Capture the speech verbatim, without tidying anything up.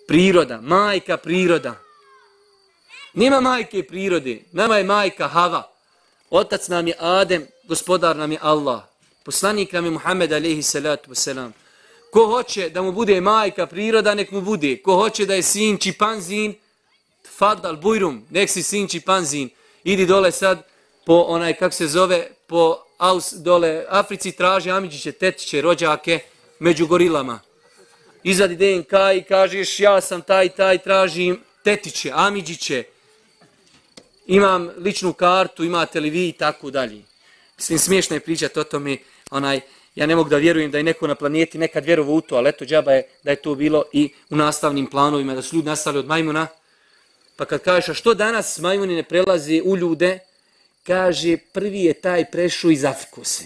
Priroda, majka priroda. Nema majke prirode, nama je majka Hava. Otac nam je Adem, gospodar nam je Allah. Poslanik nam je Muhammed alejhi salatu wasalam. Ko hoće da mu bude majka priroda, nek mu bude. Ko hoće da je sin čipanzin, fadal bujrum, nek si sin čipanzin. Idi dole sad po onaj, kak se zove, po Aus, dole Africi traži amidžiće, tetiće, rođake među gorilama. Izvadi D N K i kažeš ja sam taj, taj, tražim tetiće, amidžiće. Imam ličnu kartu, imate li vi i tako dalje. Mislim, smiješno je pričati o tome, onaj, ja ne mogu da vjerujem da je neko na planeti nekad vjerovao u to, ali eto, džaba je da je to bilo i u nastavnim planovima, da su ljudi nastali od majmuna. Pa kad kažeš, a što danas majmuni ne prelaze u ljude, kaže, prvi je taj prešao iz Afrikose.